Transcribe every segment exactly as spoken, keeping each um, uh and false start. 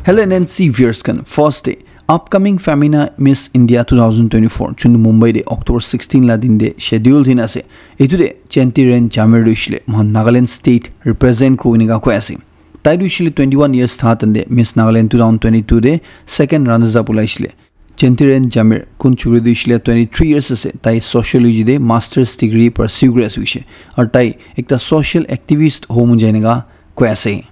Hello N N C viewers khan, first day upcoming Femina Miss India two thousand twenty-four chundu Mumbai de October sixteen la din de schedule din ase. Itu de Chentiren Jamir dushile mohan Nagaland state represent kuri nika koi ase. Tai dushile twenty-one years tha tande Miss Nagaland two thousand twenty-two de second runners up ulaishile. Chentiren Jamir kun chukri dushile twenty-three years ase, tai sociology de master's degree pursue kuri ase hoishe. Aru tai ekta social activist homu jai nika koi ase.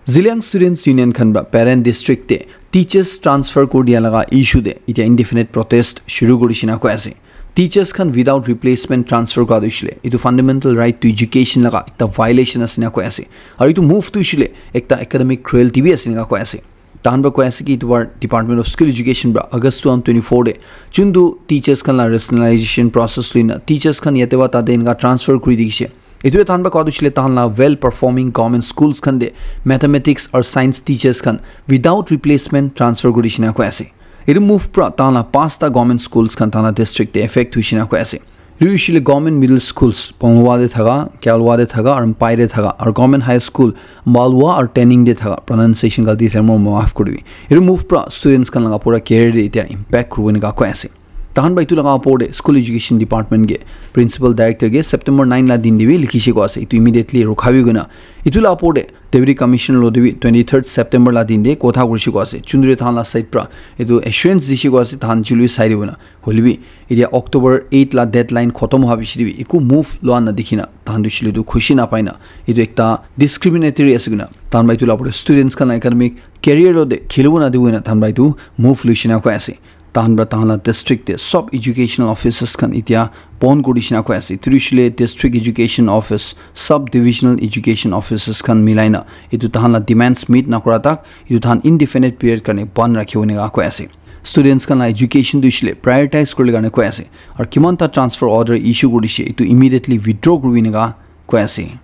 Zeliang Students Union khan ba parent district te teachers transfer kuri dia laga issue te itia indefinite protest shuru kuri shina koi ase. Teachers khan without replacement transfer kura tu shile, itu fundamental right to education laga ekta violation ase na koi ase. Aru itu move tu shile ekta academic cruelty bi ase na koi ase. Tahan ba koi ase ki itu bar Department of School Education ba August two thousand twenty-four de chundu teachers khan la rationalization process luina teachers khan yate ba tate inka transfer kuri dikishe. Itu tahan ba koi tu shile tahan la well performing government schools khan de mathematics or science teachers khan without replacement transfer kuri shina koi ase. Itu move pra tahan la pasta government schools khan tahan la district de effect hui shina koi ase. Itu shile government middle schools Pongwa de thaga, Kyalwa de thaga, aru Mpai de thaga, aru government high school Malwa aru Tening de thaga, pronunciation galti ase mo maaf kuri dibi. Itu move pra students khan laga pura career de itia impact kuri nika koi ase. Tahan ba itu laga opor de School Education Department ke Principal Director ke September nine la din de bi likhi she koi ase. Itu immediately rukhabi guna. Itu la opor de Deputy Commissioner lo de bi twenty-third September la din de kotha kuri she koi ase. Chundre tahan la side pra itu assurance di she koi ase tahan chulu sai de guna. Hoile bi itia October eight la deadline khotom howa bishi de bi eku move lua na dikhina tahan tu shile tu khushi na paina. Itu ekta discriminatory ase guna. Tahan ba itu la opor de students khan la academic career lo de khilibo na dibo na tahan ba itu move luishina koi ase. Tahan pra tahan la district te sub educational offices khan itia bon kuri dishina koi ase. Itu shile district education office, sub divisional education offices khan milaina itu tahan la demands meet nakura tak itu tahan indefinite period karne bon rakhibo nika koi ase. Students khan la education tu shile prioritize kurle karne koi ase. Aru kiman ta transfer order issue kuri dishe itu immediately withdraw kuribi nika koi ase.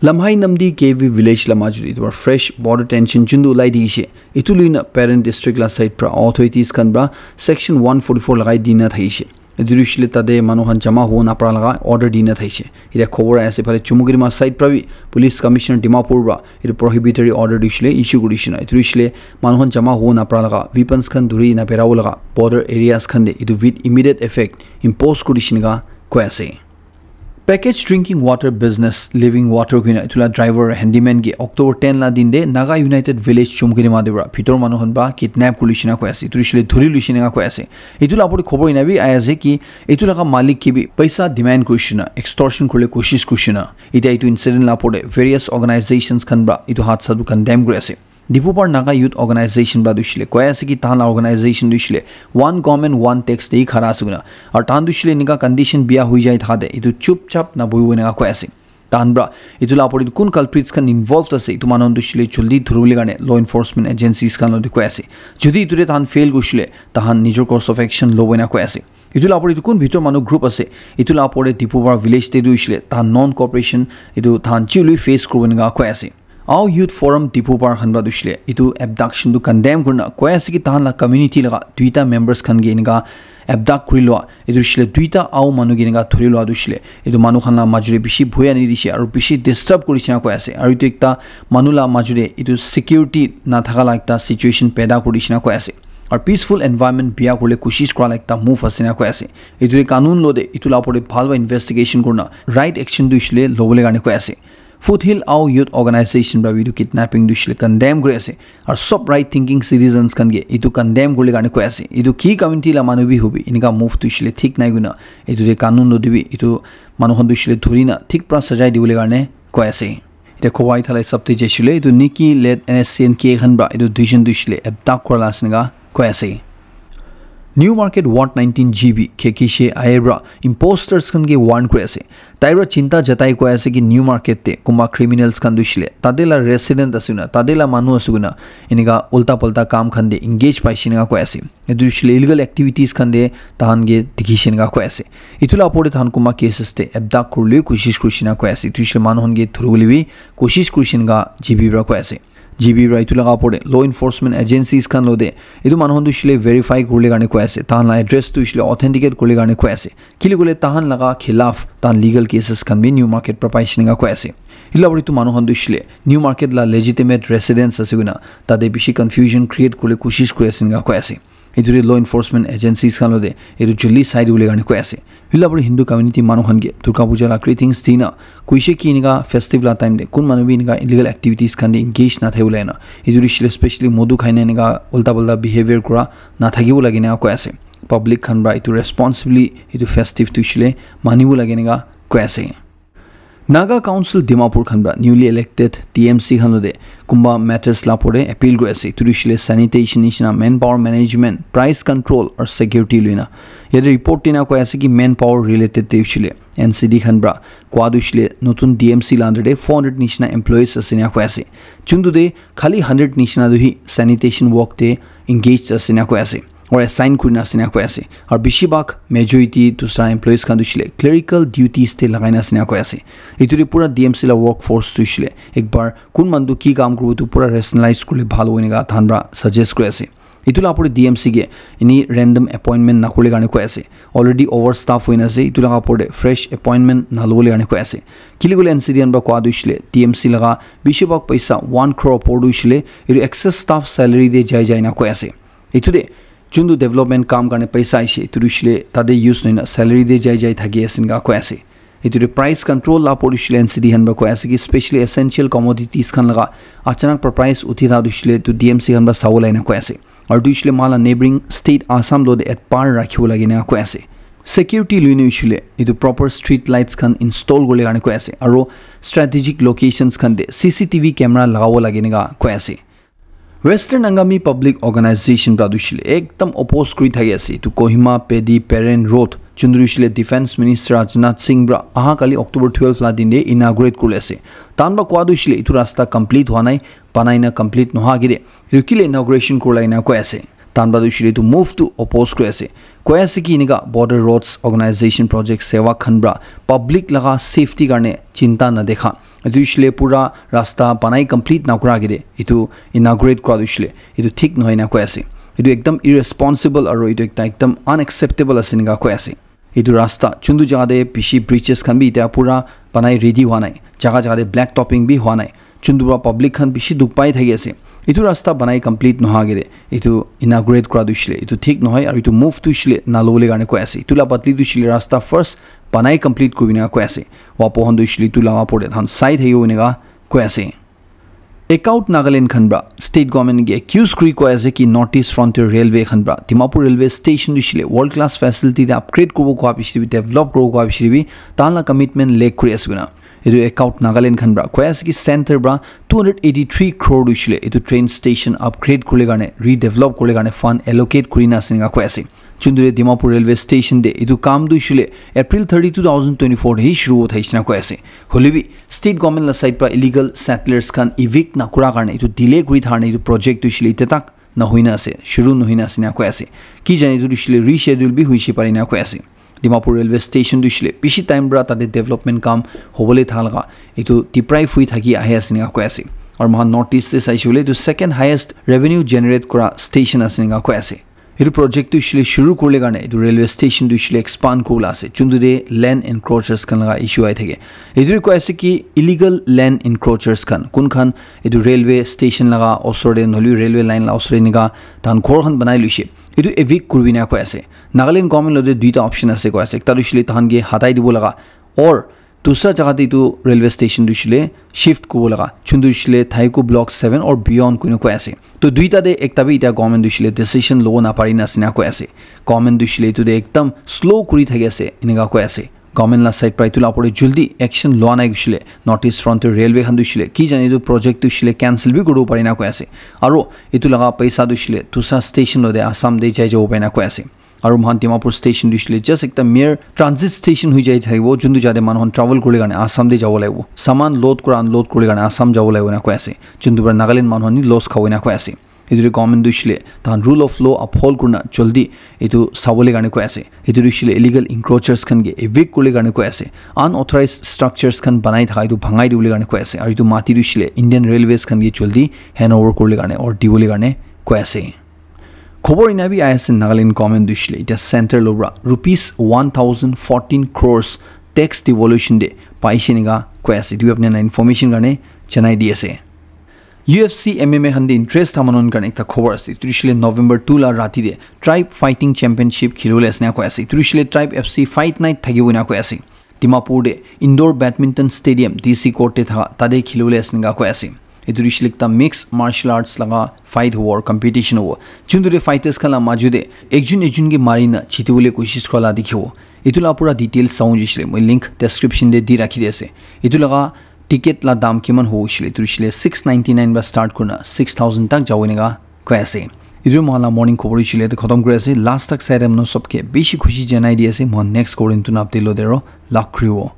Lamhai Namdi K V village la majut etu para fresh border tension chundu ulai di ase. Etu lui na parent district la side para authorities khan para section one forty-four lagai di na thakishe. Etu hoishe le tate manu khan jama hobo napara laga order di na thakishe. Etia khobor ahi ase phale Chumukedima side para bi police commissioner Dimapur para etu prohibitory order hoishe le issue kurishe na. Etu hoishe le manu khan jama hobo napara laga weapons khan dhuri na berabo laga border areas khan te etu with immediate effect impose kurishe enika koi ase. Package drinking water business Living Water koina etu la driver handyman ke October ten la din te Naga United Village Chumukedima te para bhitor manu khan para kidnap kuri lishina koi ase. Etu hoishe le dhuri lishina koi ase. Etu la opor te khobor ena bi ahi ase ki etu laga malik ke bi paisa demand kuri lishina, extortion kuribole koshish kuri lishina. Etia etu incident la opor te various organizations khan para etu hadsa tu condemn kuri ase. Dipupar Naga Youth Organization para tu hoishe le koi ase ki tahan la organization tu hoishe le one government one tax te hi khara ase koina. Aru tahan tu hoishe le enika condition biya hoi jai thaka te etu chup chap na bohibo enika koi ase. Tahan para etu la opor te kun culprits khan involved ase etu manu khan tu hoishe le jaldi dhuribole karne law enforcement agencies khan logot koi ase. Jodi etu te tahan fail kurishe le tahan nijor course of action lobo enika koi ase. Etu la opor te kun bhitor manu group ase etu la opor te Dipupar village te tu hoishe le tahan non cooperation etu tahan chi hoile face kuribo enika koi ase. Ao Youth Forum Dipupar khan para tu hoishe le etu abduction tu condemn kurina koi ase ki tahan la community laga duita members khan ke enika abduct kuri lua. Etu hoishe le duita Ao manu ke enika dhuri lua tu hoishe le etu manu khan la majot te bishi bhoi ani dishe aru bishi disturb kuri lishina koi ase. Aru etu ekta manu la majot te etu security na thaka la ekta situation paida kuri lishina koi ase. Aru peaceful environment biya kuribole koshish kura la ekta move ase enika koi ase. Etu te kanun lo te etu la opor te bhal para investigation kurina right action tu hoishe le lobole karne koi ase. Foothill Ao Youth Organization para bi etu kidnapping tu hoishe le condemn kuri ase. Aru sob right thinking citizens khan ke etu condemn kuribole karne koi ase. Etu ki community la manu bi hobi enika move tu hoishe le thik nai koina etu te kanun lo te bi etu manu khan tu hoishe le dhuri na thik para sajai dibole karne koi ase. Etia khobor ahi thala hisab te jaishe le etu Nikki led N S C N K khan para etu duijon tu hoishe le abduct kura la ase enika koi ase. New Market Ward nineteen G B Khekishe ayer para imposters khan ke warn kuri ase. Tai para chinta jatai koi ase ki New Market te kunba criminals khan tu hoishe le tate la resident ase koina tate la manu ase koina enika ulta pulta kam khan te engage paishe enika koi ase. Etu hoishe le illegal activities khan te tahan ke dikhishe enika koi ase. Etu la opor te tahan kunba cases te abduct kuribole koshish kurishe enika koi ase. Etu hoishe le manu khan ke dhuribole bi koshish kurishe enika G B para koi ase. G B para etu laga opor te law enforcement agencies khan lo te etu manu khan tu hoishe le verify kuribole karne koi ase. Tahan la address tu hoishe le authenticate kuribole karne koi ase. Kile koile tahan laga khilaf tahan legal cases khan bi New Market para paishe enika koi ase. Hila pore tu manu khan tu shile new market la legitimate residents ase koina tate bishi confusion create kule koshish kuri ase enika koi ase. Etu te law enforcement agencies khan lo te etu joldi sai dibole karne koi ase. Hila pore Hindu community manu khan ke Durga Puja la greetings dina koishe ki enika festive la time te kun manu bi enika illegal activities khan te engage na thai bole na. Etu te shile specially modu khaina enika ulta pulta behavior kura na thakibo lage enika koi ase. Public khan pra etu responsibly etu festive tu shile manibo lage enika koi ase. Naga Council Dimapur khan pra newly elected T M C khan lo te kumba matters la pore appeal kuri ase. Etu tu shile sanitation nishina manpower management, price control or security luina. Yate report tina koi ase ki manpower related te shile N C D khan pra kwa tu shile notun D M C la under te four hundred nishina employees ase ena koi ase. Chuntu te khali hundred nishina tu hi sanitation work te engaged ase ena koi ase. Or assign kurina ase ena koi ase. Aru bishi bhag majority dusra employees khan tu shile clerical duties te lagai na ase ena koi ase. Etu te pura D M C la workforce tu shile ekbar kun manu tu ki kam kuribo tu pura rationalize kurle bhal hobo enika tahan pra suggest kuri ase. Etu la pore D M C ke any random appointment na kurle karne koi ase. Already overstaff hoina ase. Etu laga pore fresh appointment na lobole karne koi ase. Kile kule N C D khan pra kwa tu shile D M C laga bishi bhag paisa one crore opor tu shile etu excess staff salary te jai jai na koi ase. Etu te chuntu development kam karne paisa aise etu tu shile tate use noina salary te jai jai thaki ase enika koi ase. Etu te price control la pore shile N C D khan pra koi ase ki specially essential commodities khan laga achanak pra price uthi tha tu shile tu D M C khan pra sabo lai na koi ase. Aru tu shile mala neighboring state Assam lo te at par rakhibo lage na koi ase. Security luine shile etu proper street lights khan install kurle karne koi ase. Aru strategic locations khan te C C T V camera lagabo lage enika koi ase. Western Angami Public Organization pra tu shile ekdam oppose kuri thaki ase. Etu Kohima Pedi Peren Road chuntu tu shile Defense Minister Rajnath Singh pra aha kali October twelve la din te inaugurate kurle ase. Tahan pra kwa tu shile etu rasta complete hwa nai, banai na complete noha agete etu kile inauguration kurla ena koi ase. Tahan pra tu shile etu move tu oppose kuri ase. Koi ase ki enika Border Roads Organization Project Seva khan pra public laga safety karne chinta na dekha. Etu shile pura rasta banai complete na kura agete etu inaugurate kura tu shile etu thik nohoi na koi ase. Etu ekdam irresponsible aru etu ekta ekdam unacceptable ase enika koi ase. Etu rasta chuntu jaga te bishi bridges khan bi etia pura banai ready hwa nai. Jaga jaga te black topping bi hwa nai. Chuntu pra public khan bishi dukh pai thaki ase. Etu rasta banai complete noha agete etu inaugurate kura tu shile etu thik nohoi aru etu move tu shile na lobole karne koi ase. Etu la badli tu shile rasta first banai complete kuribole koi ase. Wapo khan tu shile etu laga pore tahan sai thakibo enika koi ase. Ecout Nagaland khan pra state government ke accuse kuri koi ase ki North East Frontier Railway khan pra Dimapur railway station tu shile world class facility te upgrade kuribo koi bishi bi develop kuribo koi bishi bi tahan la commitment lack kuri ase koina. Etu Ecout Nagaland khan pra koi ase ki center pra two hundred eighty three crore tu shile etu train station upgrade kurle karne redevelop kurle karne fund allocate kurina ase enika koi ase. Chuntu te Dimapur railway station te etu kam tu shile April thirty, two thousand twenty-four te hi shuru uthaishe na koi ase. Hoile bi state government la side pra illegal settlers khan evict na kura karne etu delay kuri tharne etu project tu shile ite tak na hoina ase, shuru nohoina ase na koi ase. Ki jane etu tu shile reschedule bi hoishe pare na koi ase. Dimapur railway station tu shile bishi time pra tate development kam hobole thalaga etu deprive hui thaki ahi ase na koi ase. Aru mohan North East te saishe hoile etu second highest revenue generate kura station ase na koi ase. Etu project tu shile shuru kurle karne etu railway station tu shile expand kuribole ase. Chuntu te land encroachers khan laga issue ahi thake. Etu koi ase ki illegal land encroachers khan kun khan etu railway station laga osor te nohole railway line la osor te enika tahan ghor khan banai loishe. Etu evict kuribi na koi ase. Nagaland government lo te duita option ase koi ase. Ekta tu shile tahan ke hatai dibo laga or dusra jaga te etu railway station tu shile shift kuribo laga. Chuntu shile Thaiku Block seven or beyond kuina koi ase. To duita te ekta bi etia government tu shile decision lobo na pari na ase na koi ase. Government tu shile etu te ekdam slow kuri thaki ase enika koi ase. Government la side pra etu la opor te jaldi action loa nai kushile North East Frontier Railway khan tu shile ki jane etu project tu shile cancel bi kuribo pari na koi ase. Aru etu laga paisa tu shile dusra station lo te Assam te jai jabo pari na koi ase. Aru mohan Dimapur station tu shile just ekta mere transit station hui jai thakibo, juntu jate manu khan travel kurle karne Assam te jabo lagibo. Saman load kura unload kurle karne Assam jabo lagibo na koi ase. Juntu pra Nagaland manu khan ni loss khabo na koi ase. Etu tu government tu shile tahan rule of law uphold kurina jaldi etu sabole karne koi ase. Etu tu shile illegal encroachers khan ke evict kurle karne koi ase. Unauthorized structures khan banai thaka etu bhangai dibole karne koi ase. Aru etu mati tu shile Indian Railways khan ke jaldi hand over kurle karne or dibole karne koi ase. Khobor ena bi ahi ase, Nagaland government tu shile etia center lo pra rupees one thousand fourteen crores tax devolution te paise enika koi ase. Etu apni khan la information karne janai di ase. U F C M M A khan te interest tha manu khan karne ekta khobor ase. Etu hoishe le November two la rati te Tribe Fighting Championship khilibole ase enika koi ase. Etu hoishe le Tribe F C Fight Night thakibo enika koi ase. Dimapur te Indoor Badminton Stadium, D C Court te thaka, tate khilibole ase enika koi ase. Etu hoishe le ekta mixed martial arts laga fight hobo aru competition hobo. Juntu te fighters khan la maju te ekjun ekjun ke mari na jitibole koshish kura la dikhibo. Etu la pura details sawo hoishe le moi link description te di rakhi di ase. Etu laga ticket la dam kiman hobo hoishe le, etu hoishe le six ninety nine para start kurina six thousand tak jabo enika koi ase. Etu moikhan la morning khobor hoishe le etu khatam kuri ase. Last tak sai time manu sobke bishi khushi janai di ase. Moikhan next khobor etu na update lo de aro lak kuribo.